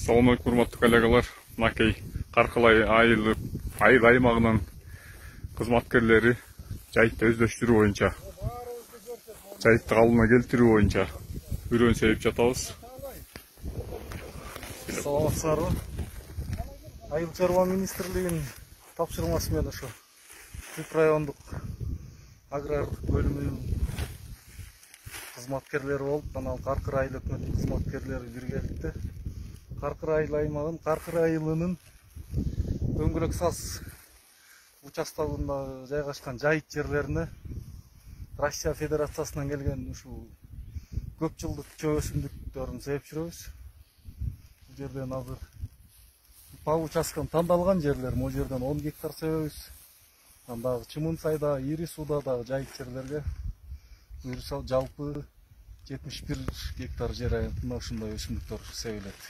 Assalamu alaikum урматтуу коллегалар. Мынакей Каркылай айыл аймагынын кызматкерлери жайытты өздөштүрүү боюнча, жайытты калыбына келтирүү боюнча үрөөн себип жатабыз. Саламатсыздарбы? Айыл чарба министрлигинин тапшырмасы менен ошо Түп райондук агрардык бөлүмүнүн кызматкерлери болуп, анан Каркыр айыл өкмөттүк кызматкерлери биргеликте Каркыр айыл аймагынын Каркыр айылынын Дөңгөлөк Саз участогунда жайгашкан жайыт жерлерине Россия Федерациясынан келген ушул көп жылдык чөп өсүмдүктөрүн себип жүрөбүз. Бул жерден азыр по участкам тандалган жерлер, могу жерден 10 гектар себебиз. Дагы Чымын сайда, Ири сууда дагы жайыт жерлерге буюрса жалпы 71 гектар жер аянтында ушундай өсүмдүктөр себилет.